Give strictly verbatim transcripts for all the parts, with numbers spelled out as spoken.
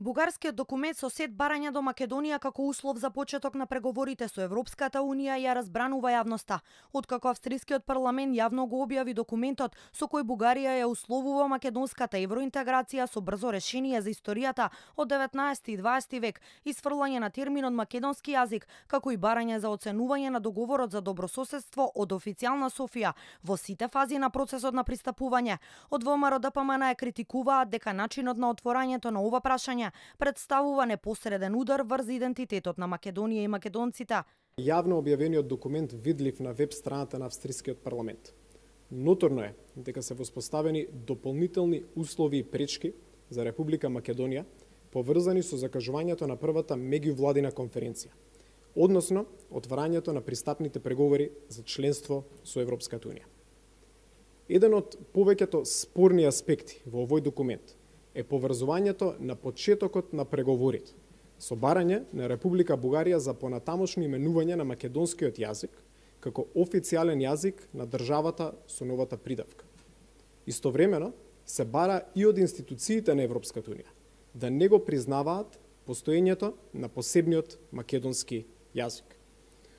Бугарскиот документ со сет барања до Македонија како услов за почеток на преговорите со Европската Унија ја разбранува јавноста, откако австрискиот парламент јавно го објави документот со кој Бугарија ја условува македонската евроинтеграција со брзо решение за историјата од деветнаесети и дваесети век, исфрлање на терминот македонски јазик, како и барање за оценување на договорот за добрососедство од официјална Софија во сите фази на процесот на пристапување. Од ВМРО Д П М Н ја критикуваат дека начинот на отворањето на ова прашање представува непосреден удар врз идентитетот на Македонија и македонците. Јавно објавениот документ видлив на веб страната на австрискиот парламент. Ноторно е дека се воспоставени дополнителни услови и пречки за Република Македонија поврзани со закажувањето на првата меѓувладина конференција, односно отварањето на пристапните преговори за членство со Европската Унија. Еден од повеќето спорни аспекти во овој документ е поврзувањето на почетокот на преговорите со барање на Република Бугарија за понатамошно именување на македонскиот јазик како официјален јазик на државата со новата придавка. Истовремено се бара и од институциите на Европската Унија да не го признаваат постоењето на посебниот македонски јазик.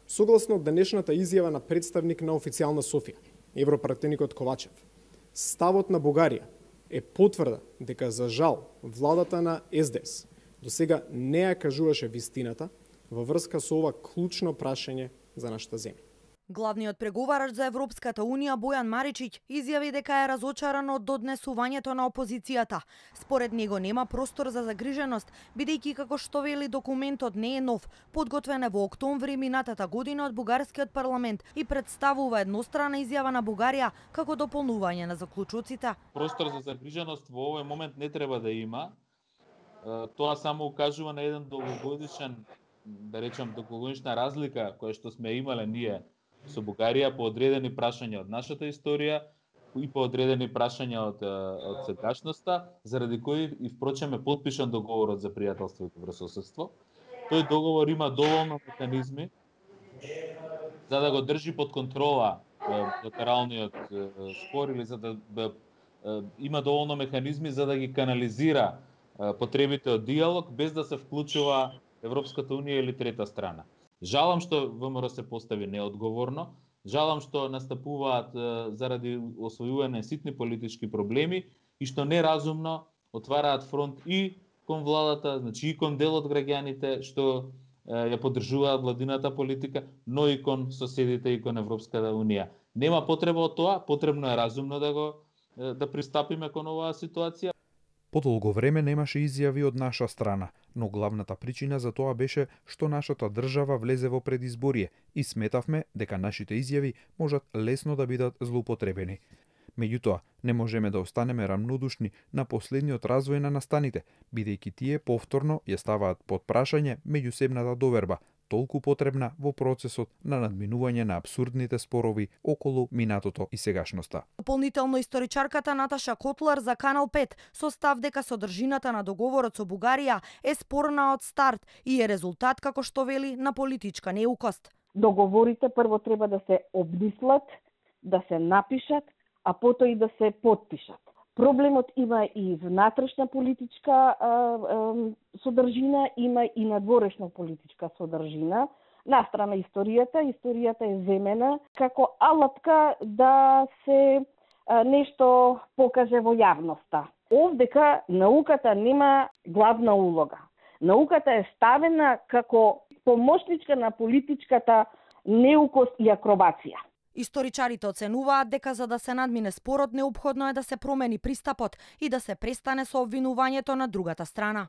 Согласно денешната изјава на представник на официјална Софија, европратеникот Ковачев, ставот на Бугарија е потврда дека за жал владата на С Д С до сега не ја кажуваше вистината во врска со ова клучно прашање за нашата земја. Главниот преговарач за Европската Унија Бојан Маричиќ изјави дека е разочаран од доднесувањето на опозицијата. Според него нема простор за загриженост, бидејќи како што вели документот не е нов, подготвен е во октомври минатата година од бугарскиот парламент и представува еднострана изјава на Бугарија како дополнување на заклучоците. Простор за загриженост во овој момент не треба да има. Тоа само укажува на еден долгогодишен, да речам, долгогодишна разлика која што сме имале ние со Бугарија по одредени прашања од нашата историја и по одредени прашања од, од сегашноста, заради кои и впрочем е потпишан договорот за пријателство и добрососедство. Тој договор има доволно механизми за да го држи под контрола билатералниот спор или за да има доволно механизми за да ги канализира потребите од диалог без да се вклучува Европската Унија или трета страна. Жалам што В М Р се постави неодговорно, жалам што настапуваат е, заради освојување ситни политички проблеми и што неразумно отвараат фронт и кон владата, значи и кон дел од граѓаните што е, ја поддржуваат владината политика, но и кон соседите и кон Европската Унија. Нема потреба од тоа, потребно е разумно да го е, да пристапиме кон оваа ситуација. Подолго време немаше изјави од наша страна, но главната причина за тоа беше што нашата држава влезе во предизборие и сметавме дека нашите изјави можат лесно да бидат злоупотребени. Меѓутоа, не можеме да останеме рамнодушни на последниот развој на настаните, бидејќи тие повторно ја ставаат под прашање меѓусебната доверба, толку потребна во процесот на надминување на абсурдните спорови околу минатото и сегашноста. Дополнително историчарката Наташа Котлар за Канал пет со став дека содржината на договорот со Бугарија е спорна од старт и е резултат, како што вели, на политичка неукост. Договорите прво треба да се обмислат, да се напишат, а потоа и да се потпишат. Проблемот има и внатрешна политичка а, а, содржина, има и надворешна политичка содржина. Настрана историјата, историјата е земена како алатка да се а, нешто покаже во јавноста. Овдека науката нема главна улога. Науката е ставена како помошничка на политичката неукост и акробација. Историчарите оценуваат дека за да се надмине спорот неопходно е да се промени пристапот и да се престане со обвинувањето на другата страна.